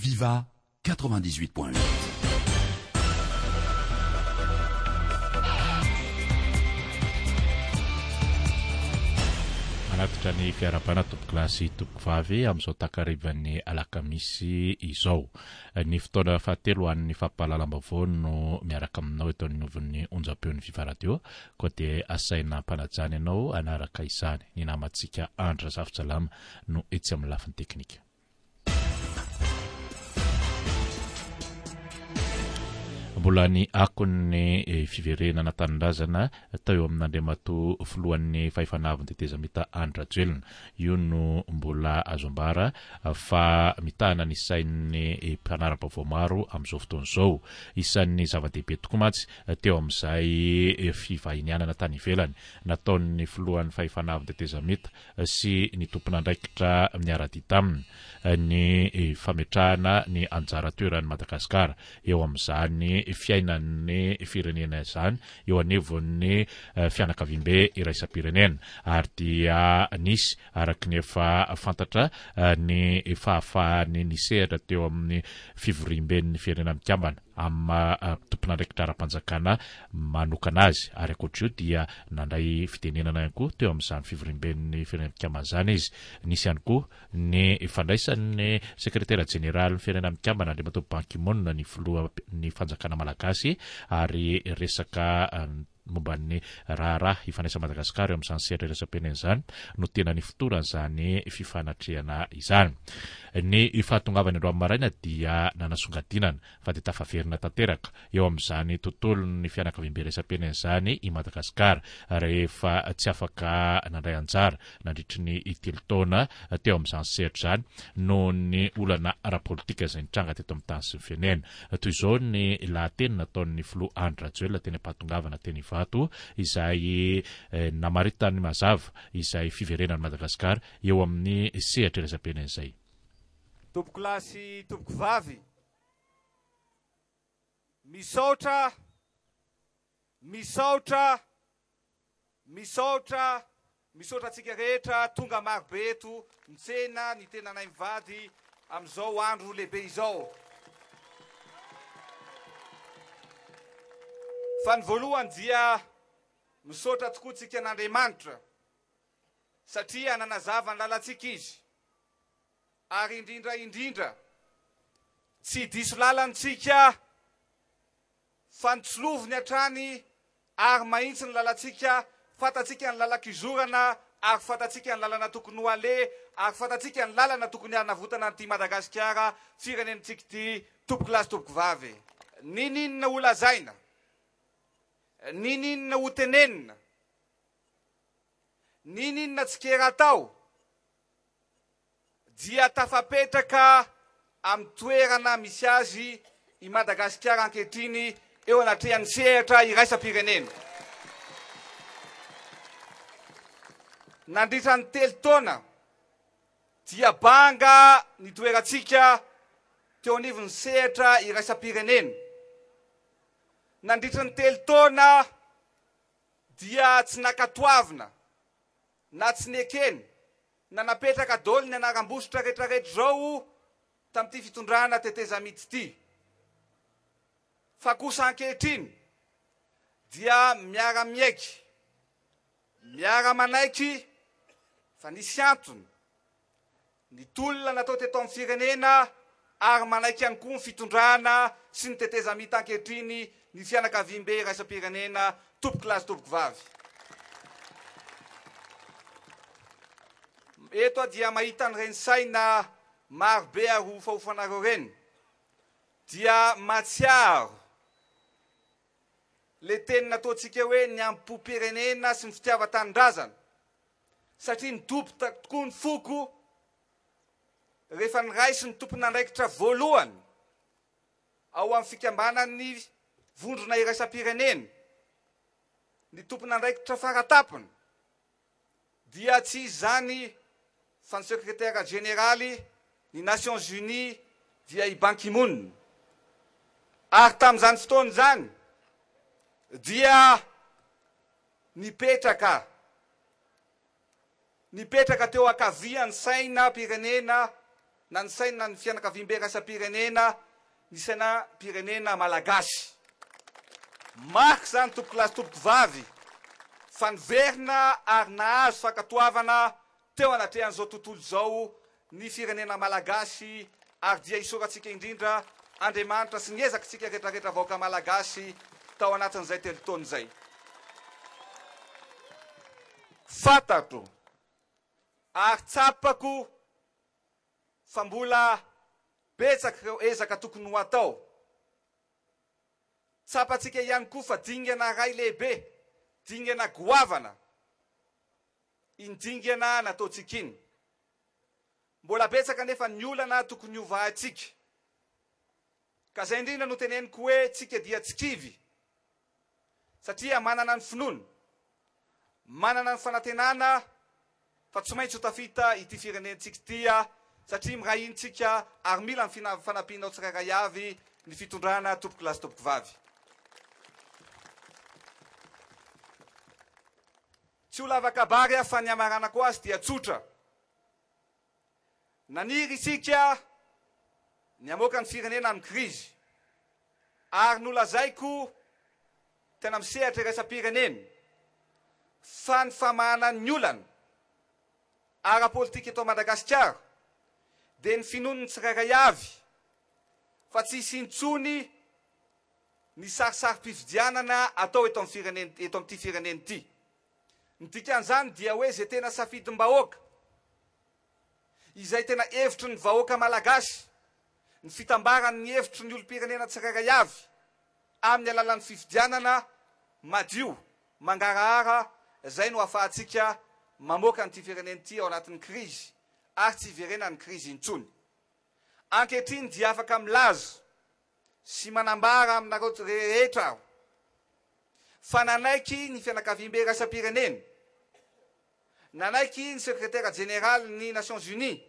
Viva 98.8. Manatitra ny fiarahabana tompokolahy sy tompokovavy amin'izao takarivan'ny alakamisy izao. Ny fotoana fahatelo ho an'ny fampahalalam-baovao no miaraka aminao eto anivon'ny onjam-peon'ny Viva Radio, koa dia asaina ampanajana ianao hanaraka izany. Ny namantsika Andry Razafintsalama no etsy amin'ny lafiny teknika. Mbola ny akon'ny eh, fiverenana tanindrazana tao eo amin'Andriamatoa filohan'ny fahefana avon'ny tetezamita Andry Rajoelina. Io no mbola azo ambara fa mitahana ny sain'ny eh, mpanara-baovao maro amin'izao fotoana izao. Isan'ny zava-dehibe tokoa mantsy teo amin'izay eh, fivahinianana tany ivelany nataon'ny filohan'ny fahefana avon'ny tetezamita sy ny tompon'andraikitra miara-dia taminy ny fametrahana ny anjara toeran'i Madagasikara eo amin'izany fiainan'ny firenena izany eo anivon'ny fianakaviambe iraisam-pirenena ary dia nisy araka ny efa fantatra ny fahafahany nisehatra teo amin'ny fivoriamben'ny Firenena Mikambana. amin'ny maha tompon'andraikitra ara-panjakana manokana azy ary ankoatr'io dia nandray fitenenana ihany koa teo amin'izany fivoriamben'ny Firenena Mikambana izany izy. Nisy ihany koa ny fandraisan'ny sekretera jeneralin'ny Firenena Mikambana Andriamatoa Ban Ki-moon ny filohan'ny fanjakana malagasy ary resaka momba ny raharaha ifandraisan'i Madagasikara eo amin'izany sehatra iraisam-pirenena izany no tena nifotoran'izany fifanatrehana izany. Ny fahatongavany androany maraina dia nanasongadinana fa dia tafaverina tanteraka eo amin'izany tontolon'ny fianakaviambe iraisam-pirenena izany i Madagasikara rehefa tsy afaka nandray anjara nandritry ny telo taona teo amin'izany sehatra izany noho ny olana ara-politika izay nitranga teto amin'ny tany sy ny firenena. Toy izao ny lahateny nataon'ny filoha Andry Rajoelina teny am-pahatongavana teny Ivato izay namaritany mazava izay fiverenan'i Madagasikara eo amin'ny sehatra iraisam-pirenena izay. Tompokolahy sy tompokovavy, misaotra, misaotra, Misaotra, misaotra antsika rehetra tonga maro be eto mitsena ny tenanay mivady amin'izao andro lehibe izao. Fa ny voalohany dia misaotra tokoa tsika an'Andriamanitra satria nanazava ny lalantsika Izy ary indrindra indrindra tsy diso lalana tsika Fa notsiloviny hatrany ary mahitsy ny lalantsika, fantatsika ny lalan-kizorana ary fantatsika ny lalana tokony ho aleha ary fantatsika ny lalana tokony hanavotana an'ity Madagasikara firenentsika ity tompokolahy sy tompokovavy. Niniana ho lazaina, niniana ho tenenina, niniana tsikera atao, dia tafapetraka amin'ny toerana misy azy i Madagasikara ankehitriny eo anatrehan'ny sehatra iraisam-pirenena. Nandritra ny telo taona dia banga ny toerantsika teo anivon'ny sehatra iraisam-pirenena. Nandritra ny telo taona dia tsy nankatoavina na tsy nekena na napetraka daholo ny anaram-bositra retraretra izao tamin'ity fitondrana tetezamita ity. Fa kosa ankehitriny dia miara-miaiky, miara-manaiky fa nisy antony ny tolona natao teto amin'ny firenena ary manaiky ihany koa ny fitondrana sy ny tetezamita ankehitriny ny fianakaviambe iraisam-pirenena tompokolahy sy tompokovavy. Eto aho dia mahita an'ireny saina maro be arofaofanareo ireny dia mahatsiaro le teny nataontsika hoe ny amim-pom-pirenena sy ny fitiavan-tanindrazana satria nidoboka tokoa ny foko rehefa niraisin'ny tompon'andraikitra voalohany ao amin'ny fikambanan'ny vondrona iraisam-pirenena ny tompon'andraikitra faratapony dia tsy iza izany fa ny sekretera jeneraly ny Nations Unies dia i Ban Ki-moon ary tamin'izany fotoana izany dia nipetraka nipetraka teo ankavian'ny sainam-pirenena. Na ny saina ny fianakaviambe iraisam-pirenena, ny sainam-pirenena malagasy. Marika izany tompokolahy sy tompokovavy fa niverina ary nahazo fankatoavana teo anatrehan'izao tontolo izao ny firenena malagasy ary dia isaorantsika indrindra Andriamanitra sy ny ezakitsika retraretra vahoaka malagasy tao anatin'izay telontaona izay. Fantatro ary tsapako fa mbola betsaka ireo ezaka tokony ho atao. Tsapantsika ihany koa fa dingana iray lehibe, dingana goavana iny dingana nataontsika iny. Mbola betsaka anefa ny olana tokony hovahantsika. Ka izay indrindra no teneniko hoe tsika dia tsy kivy satria manana ny finoana, manana ny fanantenana fa tsy maintsy ho tafita ity firenentsika ity satria miray hina tsika ary mila ny fanampianao tsirairay avy ny fitondrana tompokolahy sy tompokovavy. Tsy ho lava kabary aho fa ny hamaranako azy dia tsotra. Naniry isika ny hamoaka ny firenena amin'ny krizy ary nolazaiko tena amin'ny sehatra iraisam-pirenena fa ny famahana ny olana ara-politika eto Madagasikara dia ny finoan'ny tsirairay avy fa tsy hisy intsony ny sarisarim-pifidianana atao eto amin'ny firenena eto amin'ity firenena ity. Ny dikan'izany dia hoe izay tena safidim-bahoaka, izay tena hevitry ny vahoaka malagasy, ny fitambaran'ny hevitry ny olom-pirenena tsirairay avy amin'ny alalan'ny fifidianana madio, mangarahara, izay no ahafahantsika mamoaka an'ity firenena ity ao anatin'ny krizy ary tsy hiverenan'ny krizy intsony. Ankehitriny dia afaka milaza sy manambara aminareo rehetra aho fa nanaiky ny fianakaviambe iraisam-pirenena, nanaiky ny sekretera jeneralin'ny Nations Unies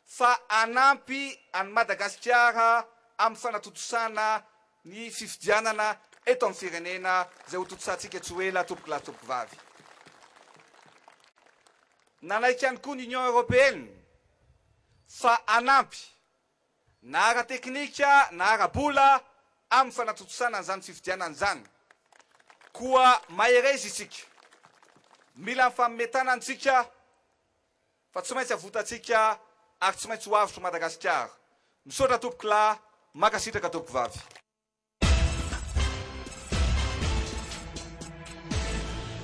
fa hanampy an'i Madagasikara amin'ny fanatontosana ny fifidianana eto amin'ny firenena izay hotontosantsika tsy ho ela tompokolahy sy tompokovavy. Nanaiky ihany koa ny Union Européenne fa hanampy na ara-teknika na ara-bola amin'ny fanatontosana an'izany fifidianana izany. Koa mahereza isika. Mila mifanome tanana isika fa tsy maintsy avotantsika ary tsy maintsy ho avotra Madagasikara. Misaotra tompokolahy, mankasitraka tompokovavy.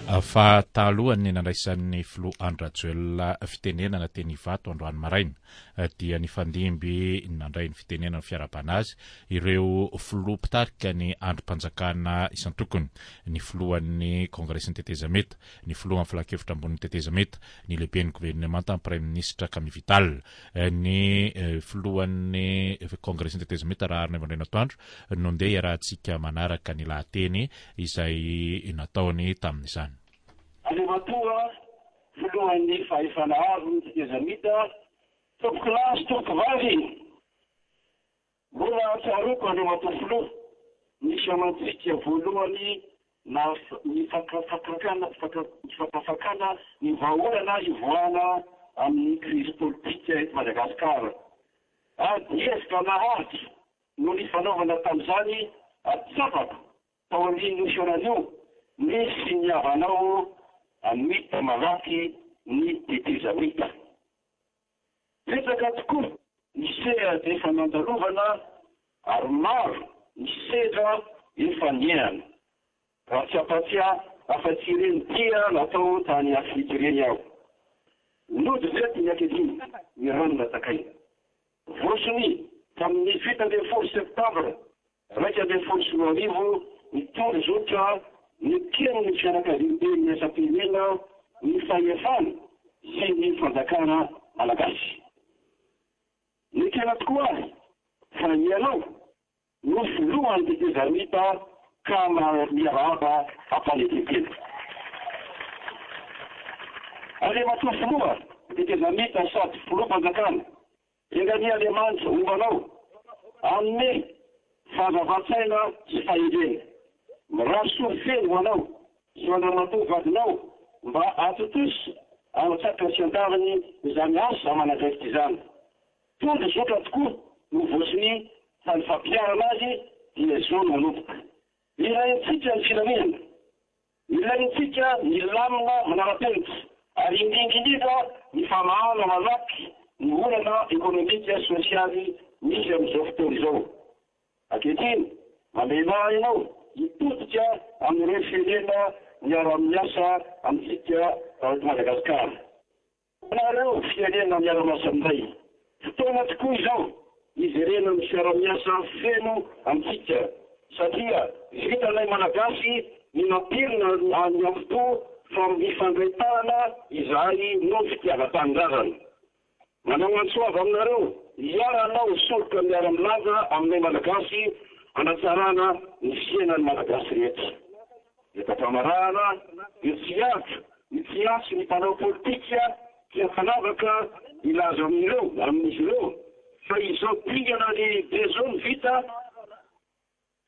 Fa talohan'ny nandraisan'ny filoha Andry Rajoelina fitenenana teny Ivato androany maraina dia nifandimby nandray ny fitenenana fiarahabana azy ireo filoha mpitarika ny andrim-panjakana isan-tokony, ny filohan'ny Kongresin'ny tetezamita, ny filohan'ny filankevitra ambonin'ny tetezamita, ny lehiben'ny governemanta ny praiminisitra Camille Vital, ny filohan'ny Kongresin'ny tetezamita Raharinaivo Andrianatoandro no ndeha iarahantsika manaraka ny lahateny izay nataony tamin'izany. Andriamatoa Filohan'ny Fahefana Avon'ny Tetezamita, Tompokolahy sy Tompokovavy, Mbola tsaroako Andriamatoa Filoha ny fihaonantsika voalohany nifakafakana ny vahaolana hivoahana amin'ny krizy politika eto Madagasikara. Ady hevitra naharitra no nifanaovana tamin'izany ary tsapako taorian'io fihaonana io ny finiavanao hamita malaky ny tetezamita. Betsaka tokoa ny sehatra efa nandalovana ary maro ny sedra efa niainana. Raha tsy hampatsiahy afa-tsy ireny dia natao tany Afrika ireny aho. Nody veto ny ankehitriny ny rano natakaina. Voasonia tamin'ny 17 septambra 2011 ny tondrozotra neken'ny fianakaviamben'ny asam-pirenena ny fahefana sy ny fanjakana malagasy. Nekena tokoa ary fa ianao no filohan'ny tetezamita ka miarahaba am-panetren-tena. Andriamatoa filoha tetezamita sady filoham-panjakana Enga anie Andriamanitra homba anao, hanome fahazavan-tsaina sy fahendrena. Mirary soa feno ho anao sy ho an-dramatoa vadinao mba hahatontosa antsakany sy andarany izany asa aman'andraikitra izany. Tondro zotra tokoa no voasonia fa ny fampiharana azy dia izao no manomboka. Ilaintsika ny filaminana. Ilaintsika ny lamina manara-penitra ary indrindra indrindra ny famahana malaky ny olana ekonomika sy sosialy misy amin'izao fotoana izao. Ankehitriny, mamelà ianao hitodika amin'ireo firenena miara-miasa amintsika eto Madagasikara. Anareo firenena miara-miasa aminay, fotoana tokoa izao hijerena ny fiara-miasa feno amintsika satria vitanay Malagasy ny nampirina ny am-po fa mifandray tanana izahay noho ny fitiavan-tanindrazana. Manao antso avo aminareo hiara-hanao soroka miara-milaza aminay Malagasy hanatsarana ny fiainan'ny Malagasy rehetra. Eto am-pamarahana dia tsy hiaritra ny tsy hiantso ny mpanao politika tsy ankanavaka hilaza amin'ireo amin'izy ireo fa izao dingana lehibe izao no vita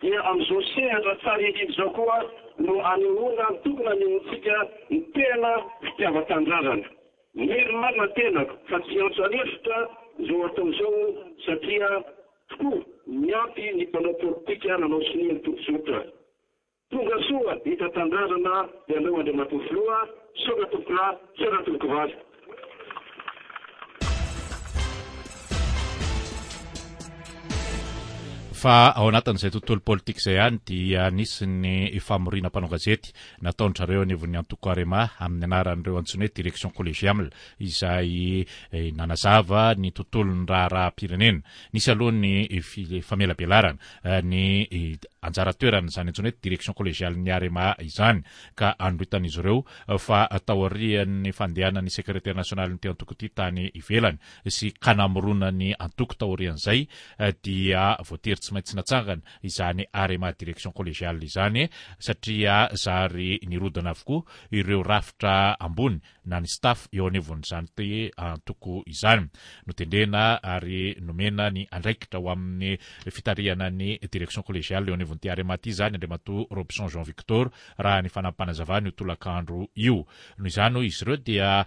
Dia amin'izao sehatra tsara indrindra izao koa no anehoana ny tokony hanehoantsika ny tena fitiavan-tanindrazana. Mihery marina ny tenako fa tsy hiantso an'efitra izao atao izao satria tokoa miampy ny mpanao politika nanao sonia ny tondrozotra. Tonga soa eto an-tanindrazana ianao Andriamatoa Filoha, misaotra tompokolahy, misaotra tompokovavy. Fa ao anatin'izay tontolo politika izay ihany dia nisy ny famoriana mpanao gazety nataon-dry zareo anivon'ny antoko Arema amin'ny anaran'ireo antsoina hoe direction collégiale izay eh, nanazava ny tontolon'ny raharaham-pirenena. Nisy aloha ny famelabelarana eh, ny eh, anjara toeran'izany antsoina hoe direction collégiale ny Arema izany ka anoritan'izy ireo fa taorian'ny fandehanan'ny sekretera nasionalin'ity antoko ity tany ivelany sy ka namorona ny antoko taorian'izay dia voatery tsy maintsy natsangana izany Arema Direction Collégiale izany satria zary nirodana avokoa ireo rafitra ambony na ny staff eo anivon'izany antoko izany. Notendrena ary nomena ny andraikitra ho amin'ny fitarihana ny Direction Collégiale eo anivon'ity Arema ity izany Andriamatoa Robson Jean Victor raha ny fanampinazavana io tolakandro io. Noho izany, hoy izy ireo, dia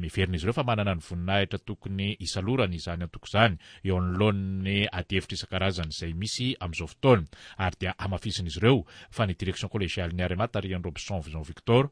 heverin'izy ireo fa manana ny voninahitra tokony hisalorany izany antoko izany eo anoloan'ny adihevitra isan-karazany izay misy amin'izao fotoana. Ary dia hamafisin'izy ireo fa ny Direction Collégiale ny Arema tarihan'i Robson Jean Victor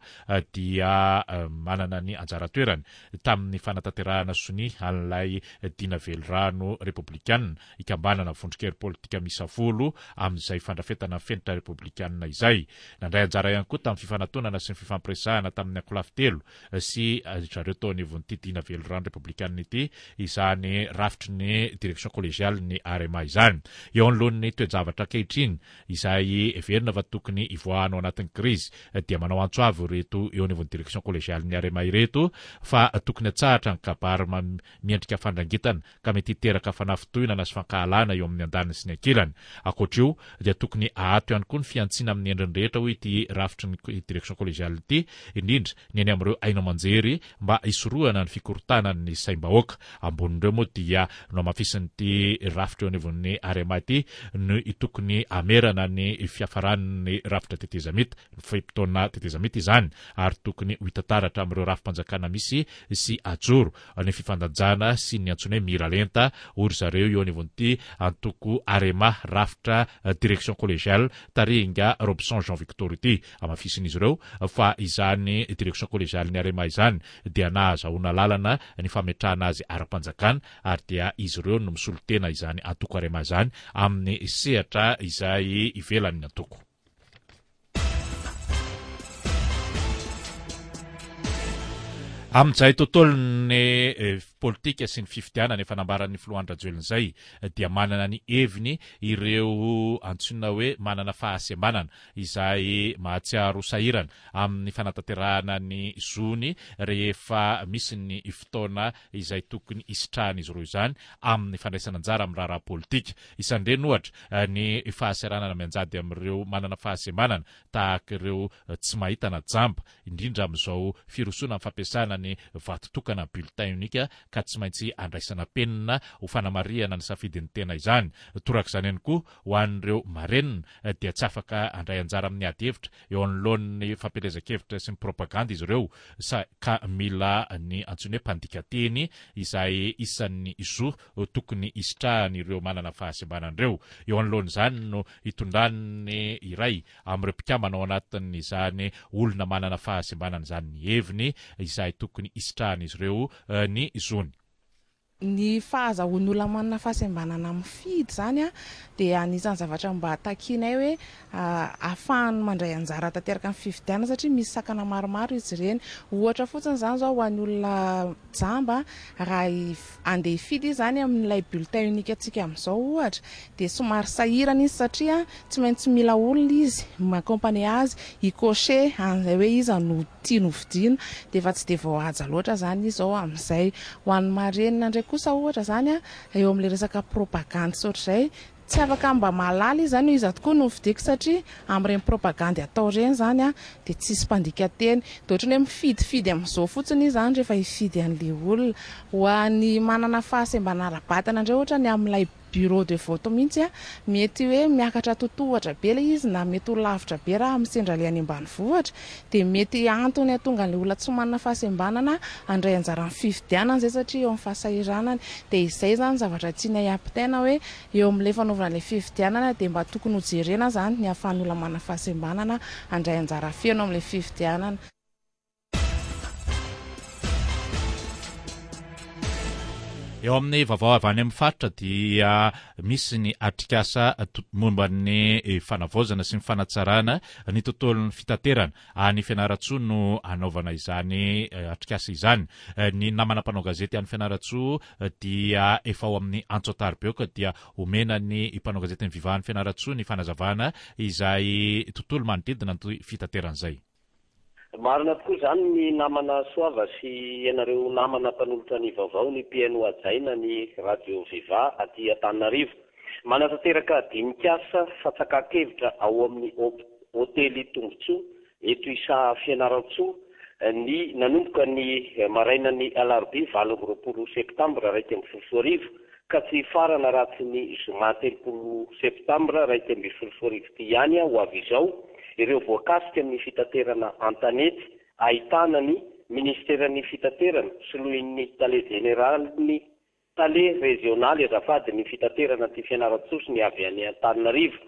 dia manana ny anjara toerany tamin'ny fanatanterahana sonia an'ilay dina velirano repoblikanina hikambanana vondron-kery politika miisa folo amin'izay fandrafetana ny fenitra repoblikanina izay. Nandray anjara ihany koa tamin'ny fifanatonana sy ny fifampiresahana tamin'ny ankolafy telo sy zareo tao anivon'ity dina velirano repoblikanina ity izany rafitry ny direction collégiale ny Arema izany. Eo anoloan'ny toe-javatra ankehitriny izay heverina fa tokony hivoahana ao anatin'ny krizy dia manao antso avo ireto eo anivon'ny direction collégiale ny Arema ireto fa tokony atsahatra ny kabary miendrika fandrangitana ka mety hiteraka fanafintohinana sy fankahalana eo amin'ny andaniny sy ny ankilany. Ankoatra io, dia tokony ahato ihany koa ny fihantsiana amin'ny endriny rehetra, hoy ity rafitry ny Direction Collégiale ity, indrindra ny eny amin'ireo haino aman-jery mba hisorohana ny fikorontanan'ny saim-bahoaka. Ambonin'ireo moa dia nohamafisin'ity rafitra eo anivon'ny Arema ity ny tokony hamerana ny fiafaran'ny rafitra tetezamita, ny fe-potoana tetezamita izany, ary tokony ho hita taratra amin'ireo rafi-panjakana misy sy ajoro ny fifandanjana sy ny antsoina hoe miralenta, hoy ry zareo eo anivon'ity antoko Arema rafitra direction collégiale tarihin'ingahy Robson Jean Victor ity. Hamafisin'izy ireo fa izany direction collégiale ny Arema izany dia nahazahoana lalana ny fametrahana azy ara-panjakana ary dia izy ireo no misolo tena izany antoko Arema izany amin'ny sehatra izay ivelan'ny antoko. Amin'izay tontolon'ny eh, politika sy ny fifidianana efa nambaran'ny filoha Andry Rajoelina izay dia manana ny heviny ireo antsoina hoe manana fahasembanana izay mahatsiaro sahirana amin'ny fanatanterahana ny zony rehefa misy ny fotoana izay tokony hisitrahan'izy ireo izany amin'ny fandraisana anjara amin'ny raharaha politika. Isan'ireny ohatra ny fahasahiranana mianjady amin'ireo manana fahasembanana tahaka ireo tsy mahita na jamba, indrindra amin'izao firosoana amin'ny fampiasana ny vato tokana bulletin unique ka tsy maintsy andraisana penina ho fanamarihana ny safidin'ny tena izany. Torak'izany ihany koa ho an'ireo marenina dia tsy afaka handray anjara amin'ny ady hevitra eo anoloan'ny fampielezan-kevitra sy ny propagandy izy ireo sa ka mila ny antsoiny hoe mpandika teny izay isan'ny zo tokony hisitrahan'ireo manana fahasembanana ireo. Eo anoloan'izany no hitondran'ny iray amin'ireo mpikambana ao anatin'izany olona manana fahasembanana izany ny heviny izay tokony hisitrahan'izy ireo ny zony. Ny fahazahoan'ny olona manana fahasembanana mifidy izany dia anisan'ny zavatra mba takianay hoe ahafahany mandray anjara tanteraka amin'ny fifidianana satria misy sakana maromaro izy ireny. Ohatra fotsiny izany izao ho an'ny olona jamba, raha handeha hifidy izy izany amin'ilay bulletin unique antsika amin'izao ohatra dia somary sahirana izy satria tsy maintsy mila olona izy mi-accompagner azy hi-cocher an'izay hoe iza no tiany ho vidiana dia efa tsy dia voahaja loatra izany izy izao amin'izay. Ho an'ny marenina indray kosa ohatra izany eo amin'ilay resaka propagandy sy ohatr'izay, tsy afaka mba mahalala izy izany hoe iza tokoa no hovidiako satria amin'ireny propagandy atao ireny izany dia tsisy mpandika teny. Dia ohatran'ny hoe mifidifidy amin'izao fotsiny izy izany rehefa hifidy an'ilay olona. Ho an'ny manana fahasembanana ara-batana indray ohatra ny amin'ilay Bureau de vote mihitsy a, mety hoe miakatra totohatra be ilay izy na mety ho lavitra be raha sendra ilay any ambanivohitra, dia mety antony hahatonga an'ilay olona tsy manana fahasembanana handray anjara amin'ny fifidianana izay satria eo amin'ny fahasahiranany, dia izay izany zavatra tianay hampitaina hoe eo amin'ilay fanaovana ilay fifidianana dia mba tokony ho jerena izany ny ahafahan'ny olona manana fahasembanana handray anjara feno amin'ilay fifidianana. Eo amin'ny vaovao avy any amin'ny faritra dia misy ny atrikasa momba ny fanavaozana sy ny fanatsarana ny tontolon'ny fitaterana. Any Fianarantsoa no hanaovana izany atrikasa izany. Ny namana mpanao gazety any Fianarantsoa dia efa ao amin'ny antso an-tariby ka dia omena ny mpanao gazetin'ny Viva any Fianarantsoa ny fanazavana izay tontolo manodidina ny fitaterana izay. Marina tokoa izany ny namana Soava sy ianareo namana mpanolotra ny vaovao ny mpihaino hajaina ny Radio Viva aty Antananarivo. Manatanteraka dinik'asa fatsakan-kevitra ao amin'ny Hotely Tombotsoa eto Isaha Fianarantsoa ny nanomboka ny marainan'ny alarobia 28 septambra 2011 ka tsy hifarana raha tsy ny zoma 30 septambra 2011 ity ihany ho avy izao ireo voakasika amin'ny fitaterana an-tanety ahitana ny Minisiteran'ny Fitaterana soloin'ny Tale Jeneralin'ny Tale Rezionaly azafady ny fitaterana aty Fianarantsoa sy ny avy any Antananarivo.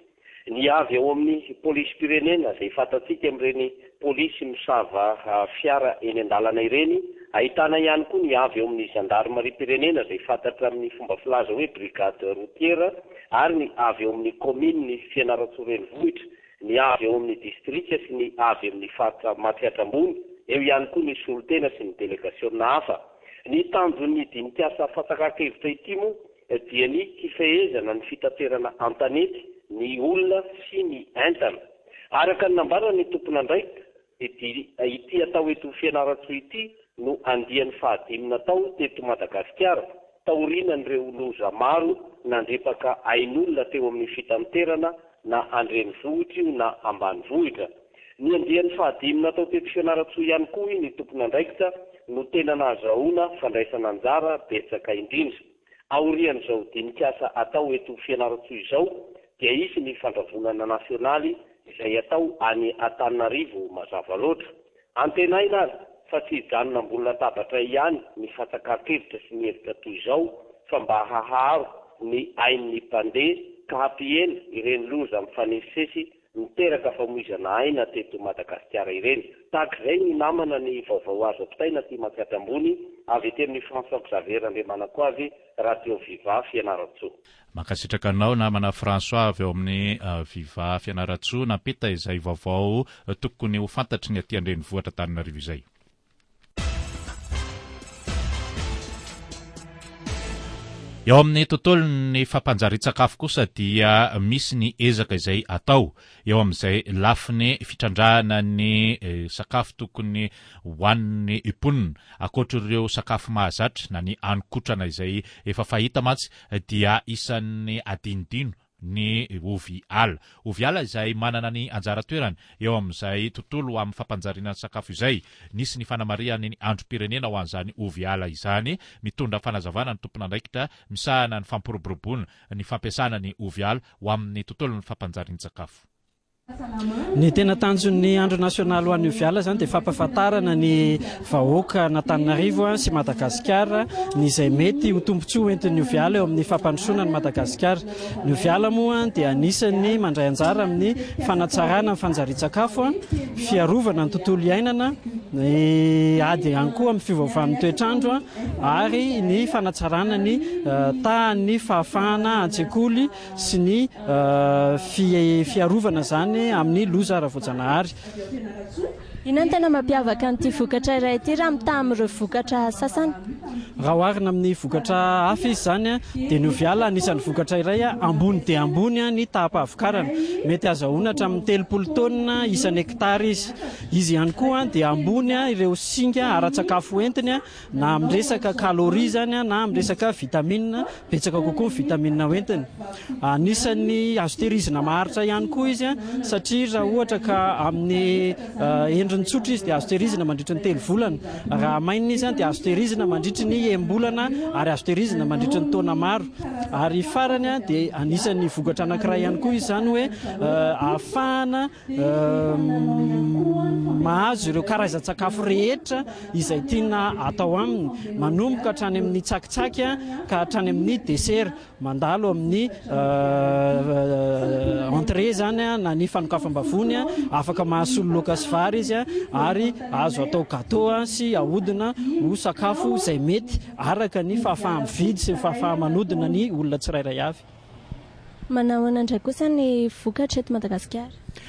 Ny avy ao amin'ny polisim-pirenena izay fantatsika amin'ireny polisy misava fiara eny an-dalana ireny, ahitana ihany koa ny avy ao amin'ny zandarimariam-pirenena izay fantatra amin'ny fomba filaza hoe brigade routière ary ny avy ao amin'ny kaominin'i Fianarantsoa renivohitra, ny avy ao amin'ny distrika sy ny avy amin'ny faritra Matsiatra Ambony, eo ihany koa ny solontena sy ny delegasiona hafa. Ny tanjon'ny dinik'asa fatsakan-kevitra ity moa dia ny hifehezana ny fitaterana an-tanety ny olona sy ny entana. Araka ny nambaran'ny tompon'andraikitra dia ity atao eto Fianarantsoa ity no andiany fahadimy natao teto Madagasikara taorianan'ireo loza maro nandripaka ain'olona teo amin'ny fitanterana na an-drenivohitra io na ambanivohitra. Ny andiany fahadimy natao teto Fianarantsoa ihany koa hoy ny tompon'andraikitra no tena nahazahoana fandraisana anjara betsaka indrindra. Aorian'izao dinik'asa atao eto Fianarantsoa izao dia hisy ny fandravonana nasionaly izay atao any Antananarivo mazava loatra. Antenaina ary fa tsy hijanona ambony latabatra ihany ny fatsakan-kevitra sy ny hevitra toy izao fa mba haharo ny ain'ny mpandeha ka hampihena ireny loza mifanesisesy niteraka famoizana aina teto Madagasikara ireny. Tahaka izay ny namana ny vaovao azo ampitaina aty Matsiatra Ambony avy ety amin'ny François Xavier Randriamanankoavy, Radio Viva Fianarantsoa. Mankasitraka anao namana François avy ao amin'ny Viva Fianarantsoa nampita izay vaovao tokony ho fantatry ny aty an-drenivohitra Antananarivo izay. Eo amin'ny tontolon'ny fampanjarian-tsakafo kosa dia misy ny ezaka izay atao eo amin'izay lafiny fitrandrahana ny sakafo tokony hohanin'ny mponina. Ankoatr'ireo sakafo mahazatra na ny hanin-kotrana izay efa fahita mantsy dia isan'ny adinodino. ny ovy ala. Ovy ala izay manana ny anjara toerany eo amin'izay tontolo amin'ny fampanjariana ny sakafo izay. Nisy ny fanamarihana ny androm-pirenena ho an'izany ovy ala izany. Mitondra fanazavana ny tompon'andraikitra misahana ny fampiroboroboana ny fampiasana ny ovy ala ho amin'ny tontolon'ny fampanjarian-tsakafo. Ny tena tanjon'ny andro nasionaly ho an'ny oviala izany dia fampahafantarana ny vahoaka an'Antananarivo sy Madagasikara ny izay mety ho tombontsoa hoentin'ny oviala eo amin'ny fampandrosoana an'i Madagasikara. Ny oviala moa dia anisan'ny mandray anjara amin'ny fanatsarana ny fanjarian-tsakafo, fiarovana ny tontolo iainana, ny ady ihany koa amin'ny fiovaovan'ny toetr'andro ary ny fanatsarana ny tahan'ny fahafahana an-tsekoly sy ny fiarovana izany amin'ny loza ara-voajanahary. Inona no tena mampiavaka an'ity vokatra iray ity raha mitaha amin'ireo vokatra sasany? Raha oharina amin'ny vokatra hafa izy izany dia ny oviala anisan'ny vokatra iray ambony dia ambony ny taham-pahavokarana. Mety azahoana hatramin'ny 30 taonina isan'hektara izy. Izy ihany koa dia ambony ireo singa ara-tsakafo entiny Na amin'ny resaka calories izany na amin'ny resaka vitamine, betsaka kokoa ny vitamine hoentiny. Anisan'ny azo tehirizina maharitra ihany koa izy satria raha ohatra ka amin'ny endriny tsotra izy dia azo tehirizina mandritry ny telo volana. Raha hamainina izy dia azo tehirizina mandritry ny enim-bolana ary azo tehirizina mandritry ny taona maro. Ary farany dia anisan'ny vokatra anankiray ihany koa izy izany hoe ahafahana Mahazo ireo karazan-tsakafo rehetra izay tiana atao aminy, manomboka hatrany amin'ny tsakitsaky ka hatrany amin'ny desera. Mandalo amin'ny entrée izany na ny fanokafam-bavony, afaka mahasolo laoka sy vary izy ary azo atao gâteau sy ahodina ho sakafo izay mety araka ny fahafaha-mividy sy ny fahafaha-manodina ny olona tsirairay avy. Manahoana indray kosa ny vokatra eto Madagasikara?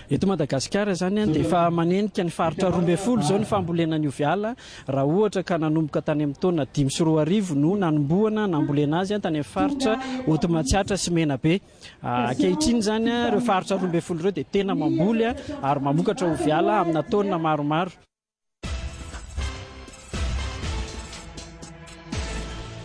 Eto Madagasikara izany dia efa manenika ny faritra 12 izao ny fambolena ny oviala, raha ohatra ka nanomboka tany amin'ny taona 2005 no nanombohana nambolena azy tany amin'ny faritra Haute Matsiatra sy Menabe. Ankehitriny izany ireo faritra 12 ireo dia tena mamboly ary mamokatra oviala amina taonina maromaro.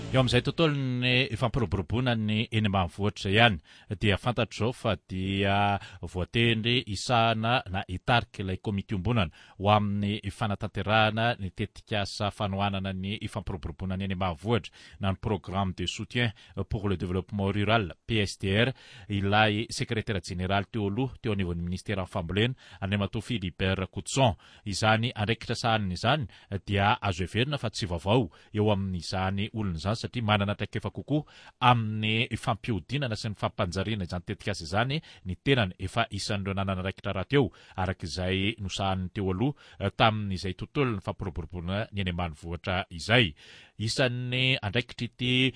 Eo amin'izay tontolon'ny fampiroboroboana ny eny ambanivohitra ihany dia fantatro izao fa dia voatendry hisahana na hitarika ilay komity iombonana ho amin'ny fanatanterahana ny tetikasa fanohanana ny fampiroboroboana ny eny ambanivohitra na ny Programme de soutien pour le développement rural, PSDR, ilay sekretera jeneraly teo aloha teo anivon'ny minisiteran'ny fambolena, Andriamatoa Philibert Rakotoson. Izany andraikitra sahaniny izany dia azo heverina fa tsy vaovao eo amin'izany olona izany satria manana traikefa kokoa amin'ny fampihodinana sy ny fampanjariana izany tetikasa izany ny tenany, efa isan'ireo nanana andraikitra rahateo araka izay nosahaniny teo aloha tamin'izay tontolon'ny fampiroboroboana ny eny ambanivohitra izay. Isan'ny andraikitr'ity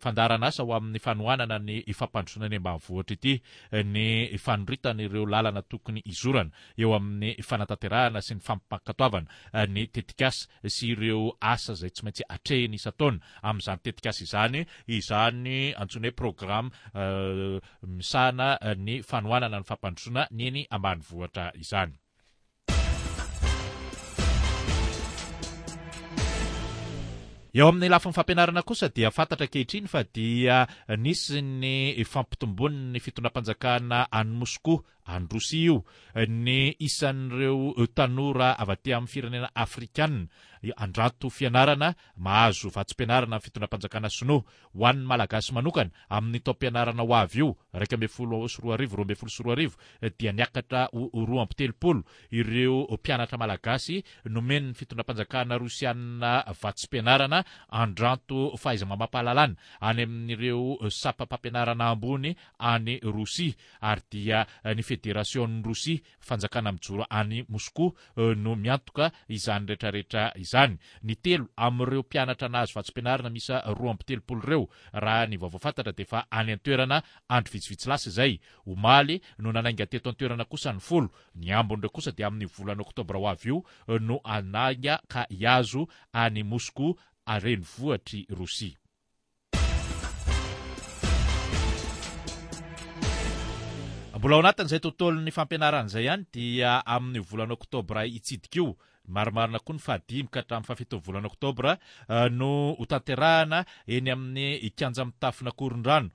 fandaharanasa ho amin'ny fanohanana ny fampandrosoana eny ambanivohitra ity ny fanoritana ireo lalana tokony hizorana eo amin'ny fanatanterahana sy ny fampankatoavana ny tetikasa sy ireo asa izay tsy maintsy atrehiny isan-taona amin'izany tetikasa izany, izany antsoina hoe programme misahana ny fanohanana ny fampandrosoana ny eny ambanivohitra izany. Eo amin'ny lafiny fampianarana kosa dia fantatra ankehitriny fa dia nisy ny fampitomboan'ny fitondram-panjakana any Moskoa, any Rosia io, ny isan'ireo tanora avy aty amin'ny firenena afrikanina andrato fianarana mahazo vatsim-pianarana amin'ny fitondram-panjakana sinoa. Ho an'ny Malagasy manokana, amin'ny taom-pianarana ho avy io, 2011, 2012, dia niakatra ho 32 ireo mpianatra malagasy nomen'ny fitondram-panjakana rosianina vatsim-pianarana andranto fahaiza-mamampahalalana any amin'ireo sampam-pampianarana ambony any Rosia ary dia ny Federasion'i Rosia, fanjakana mijoro any Moskoa, no miantoka izany rehetrarehetra izany. Ny telo amin'ireo mpianatra nahazo vatsim-pianarana miisa 32 ireo, raha ny vaovao fantatra dia efa any an-toerana andro vitsivitsy lasa izay. Omaly no nanainga teto an-toerana kosa ny folo. Ny ambin'ireo kosa dia amin'ny volana oktobra ho avy io no hanainga ka hihazo an'i Moskoa renivohitr'i Rosia. Mbola ao anatin'izay tontolon'ny fampianarana izay ihany dia amin'io volana oktobra hitsidika io. Marimarina koa ny fahadimy ka hatramin'ny fahafiton'ny volana oktobra no hotanterahana eny amin'ny kianja mitafon'Akorondrano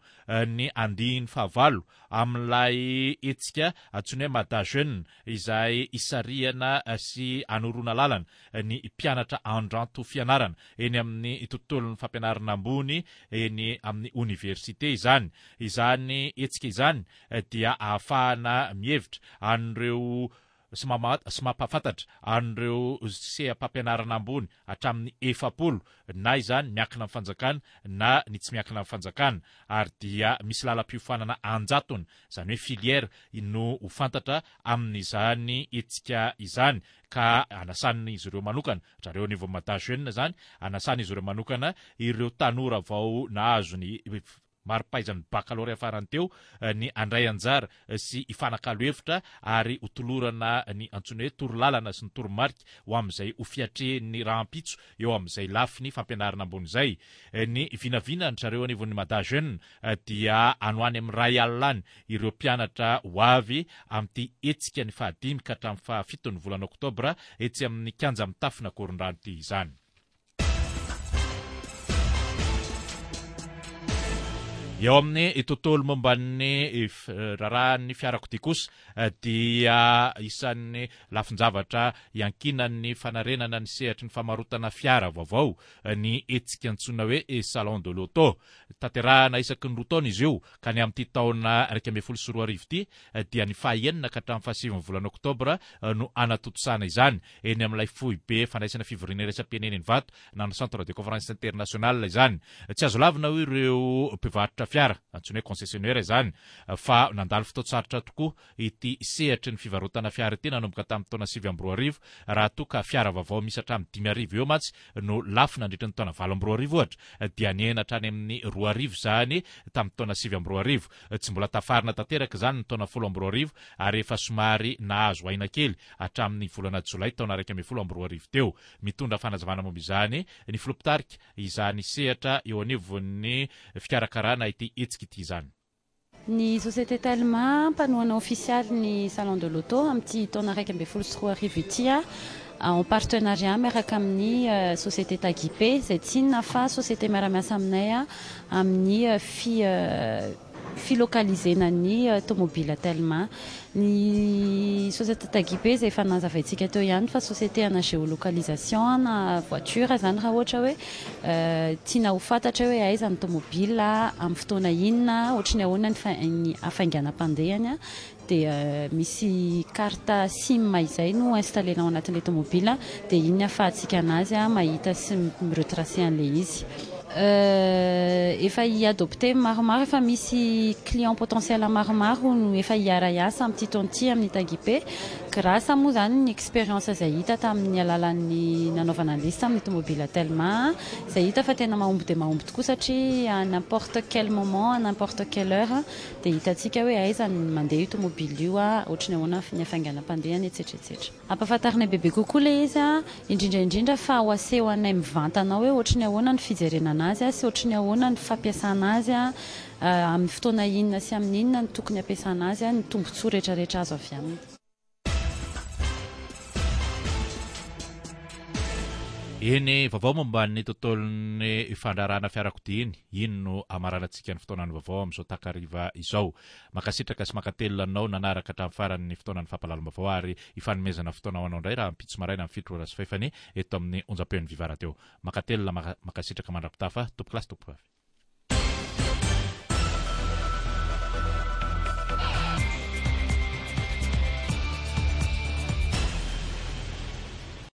ny andiany fahavalo amin'ilay hetsika antsoina hoe Mada Jeune izay hisarihana sy hanoroana lalana ny mpianatra handranto fianarana eny amin'ny tontolon'ny fampianarana ambony eny amin'ny oniversite izany. Izany hetsika izany dia ahafahana mihevitra an'ireo sy sy mampahafantatra an'ireo seha-pampianarana ambony hatramin'ny 40 na izany miankina amin'ny fanjakana na ny tsy miankina amin'ny fanjakana ary dia misy lalam-piofanana an-jatony, izany hoe filière, no ho fantatra amin'izany hetsika izany ka anasan'izy ireo manokana, zareo anivon'ny Mada Jeune izany, anasan'izy ireo manokana ireo tanora vao nahazo ny mari-pahaizan'ny bakalorea farany teo ny handray anjara sy hifanakalo hevitra ary ho tolorana ny antsoina hoe torolalana sy ny toromarika ho amin'izay ho fiatrehin'ny rahampitso eo amin'izay lafiny fampianarana ambony izay. Ny vinavinan-dry zareo anivon'ny Mada Jeune dia any ho any amin'ny iray alina any ireo mpianatra ho avy amin'ity hetsika ny fahadimy ka hatramin'ny fahafiton'ny volana oktobra etsy amin'ny kianja mitafon'Ankorondrano ity izany. Eo amin'ny tontolo momba ny raharahan'ny fiarakodia kosa dia isan'ny lafin-javatra iankinan'ny fanarenana ny sehatry ny famarotana fiara vaovao ny hetsika antsoina hoe Salon de l'auto. Tanterahana isaky ny roa taona izy io ka ny amin'ity taona 2011 ity dia ny faha enina ka hatramin'ny fahasivin'ny volana oktobra no hanatontosana izany eny amin'ilay foibe fandraisana fivoriana iraisam-pirenena eny Ivato na ny Centre de Conférence International izany. Tsy azo lavina hoy ireo mpivarotra fiara, antsoina hoe concessionnaire izany, fa nandalo fotoan-tsarotra tokoa ity sehatry ny fivarotana fiara ity nanomboka tamin'ny taona 2009 raha toa ka fiara vaovao misy hatramin'ny 5000 eo mantsy no lafo nandritra ny taona 2008 ohatra dia nihena hatrany amin'ny 2000 izany tamin'ny taona 2009. Tsy mbola tafarina tanteraka izany ny taona 2010 ary efa somary nahazo aina kely hatramin'ny volana jolay taona 2011 teo. Mitondra fanazavana momba izany ny filoha mpitarika izany sehatra eo anivon'ny fikarakarana ity hetsika ity izany. Ny Société Telma, mpanohana ofisialy ny Salon de l'Auto amin'ity taona 2011 ity, en partenariat miaraka amin'ny Société Taguipé, izay tsy inona fa société miara-miasa aminay amin'ny fi. Filocalisena ny tomobila Telma. Ny société Taguipe izay efa nazavaintsika teo ihany fa société ana géolocalisation ana voiture izany raha ohatra hoe tiana ho fantatra hoe aiza ny tomobila amin'ny fotoana inona, ohatry ny ahoana ny hafainganam-pandehany dia misy carte sim izay no installer-na ao anatin'ilay tomobila dia iny ny ahafahantsika anazy mahita sy mi-retracer an'ilay izy. Efa hi-adopter maromaro, efa misy client potentiel maromaro no efa hiara-hiasa amin'ity taona ity amin'ny Taguipe grâce moa izany ny expérience izay hita tamin'ny alalan'ny nanaovana an'ilay izy tamin'ny tomobila Telma izay hita fa tena mahomby dia mahomby tokoa satria à n'importe quel moment, à n'importe quelle heure Dia hitantsika hoe aiza ny mandeha io tomobile io, ohatry ny ahoana ny hafainganam-pandehany, etsetra etsetra. Ampahafantarinay bebe kokoa ilay izy, indrindra indrindra fa ho aseho anay mivantana ao hoe ohatry ny ahoana ny fijerena an'azy sy ohatry ny ahoana ny fampiasana azy, amin'ny fotoana inona sy amin'ny inona no tokony hampiasana azy, ny tombontsoa rehetra rehetra azo avy aminy. Eny, vaovao momba ny tontolon'ny fandraharahana fiarakodia iny. Iny no hamaranantsika ny fotoanan'ny vaovao amin'izao takariva izao. Mankasitraka sy mankatelina anao nanaraka hatramin'ny farany ny fotoanan'ny fampahalalam-baovao ary hifanomezana fotoana ho anao indray rahampitso maraina amin'ny fito ora sy fahefany eto amin'ny onjam-peon'ny Viva Radio. Mankatelina, mankasitraka mandra-pitafa, tompokolahy sy tompokovavy.